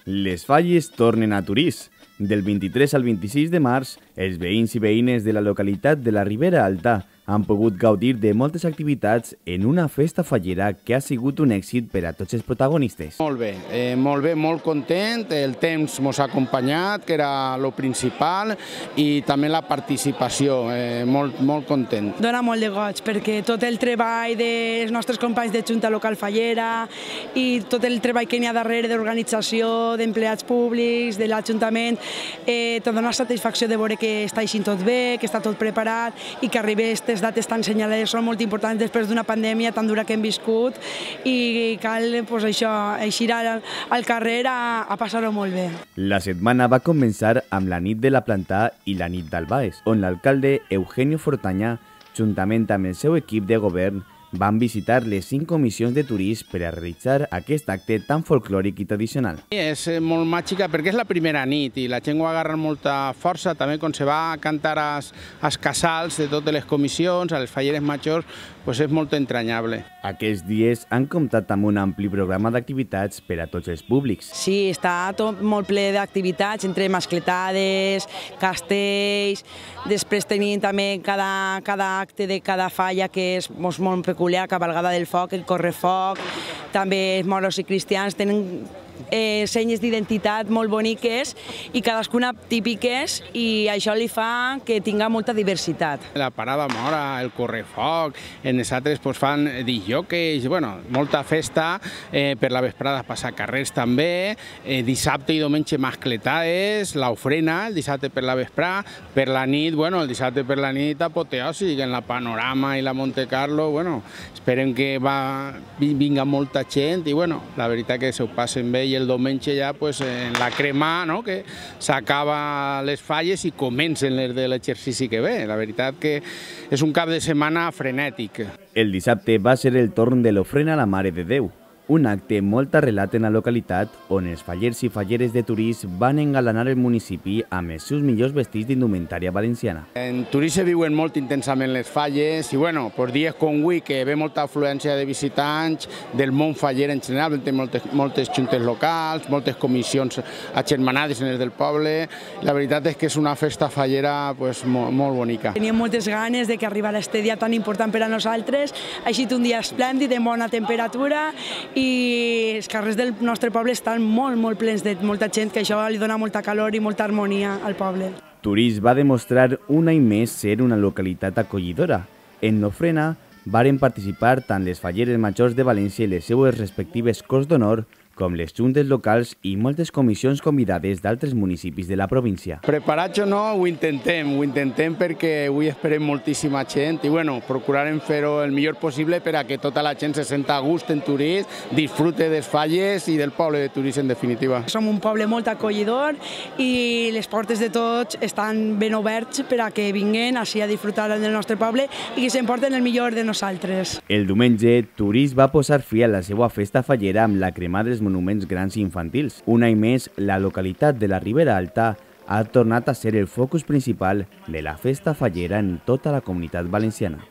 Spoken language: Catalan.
Les Falles tornen a Torís. Del 23 al 26 de març, els veïns i veïnes de la localitat de la Ribera Alta han pogut gaudir de moltes activitats en una festa fallera que ha sigut un èxit per a tots els protagonistes. Molt bé, molt content. El temps ens ha acompanyat, que era el principal, i també la participació, molt content. Dóna molt de goig, perquè tot el treball dels nostres companys de Junta Local Fallera i tot el treball que n'hi ha darrere d'organització, d'empleats públics, de l'Ajuntament, te dona satisfacció de veure que està així tot bé, que està tot preparat i que arribi aquestes dates tan senyalades són molt importants després d'una pandèmia tan dura que hem viscut i cal eixir al carrer a passar-ho molt bé. La setmana va començar amb la nit de la Plantà i la nit d'Albaes, on l'alcalde Eugenio Fortaña, juntament amb el seu equip de govern, van visitar les 5 comissions de turisme per a realitzar aquest acte tan folclòric i tradicional. És molt màgica perquè és la primera nit i la gent ho agarra amb molta força, també quan se va a cantar als casals de totes les comissions, a les falleres majors, és molt entranyable. Aquests dies han comptat amb un ampli programa d'activitats per a tots els públics. Sí, està tot molt ple d'activitats, entre mascletades, castells, després tenim també cada acte de cada falla que és molt peculiar, cabalgada del foc, el correfoc, també moros i cristians tenen senyes d'identitat molt boniques i cadascuna típiques i això li fa que tinga molta diversitat. La parada mora, el correfoc, els altres fan disjòqueis, molta festa, per la vesprada passar carrers també, dissabte i diumenge mascletades, l'ofrena, el dissabte per la vesprada, per la nit, el dissabte per la nit apoteòsic, en la Panorama i la Monte Carlo, esperem que vinga molta gent i la veritat que s'ho passen bé i el diumenge ja en la crema, que s'acaba les falles i comencen les de l'exercici que ve. La veritat que és un cap de setmana frenètic. El dissabte va ser el torn de l'ofrena a la Mare de Déu, un acte molt arrelat en la localitat on els fallers i falleres de Torís van engalanar el municipi amb els seus millors vestits d'indumentària valenciana. En Torís se viuen molt intensament les falles i dies com avui que ve molta afluència de visitants del món faller en general, moltes juntes locals, moltes comissions agermanades en els del poble. La veritat és que és una festa fallera molt bonica. Teníem moltes ganes de que arribara aquest dia tan important per a nosaltres, ha estat un dia esplèndid, de bona temperatura i els carrers del nostre poble estan molt plens de molta gent, que això li dona molta calor i molta harmonia al poble. Torís va demostrar un any més ser una localitat acollidora. En l'ofrena varen participar tant les falleres majors de València i les seues respectives Corts d'Honor com les juntes locals i moltes comissions convidades d'altres municipis de la província. Preparats o no, ho intentem perquè avui esperem moltíssima gent i procurarem fer-ho el millor possible per a que tota la gent se senta a gust en Torís, disfrute dels falles i del poble de Torís en definitiva. Som un poble molt acollidor i les portes de tots estan ben oberts per a que vinguin així a disfrutar del nostre poble i que s'emporten el millor de nosaltres. El diumenge, Torís va posar fi a la seva festa fallera amb la cremada dels monuments grans i infantils. Un any més, la localitat de la Ribera Alta ha tornat a ser el focus principal de la festa fallera en tota la comunitat valenciana.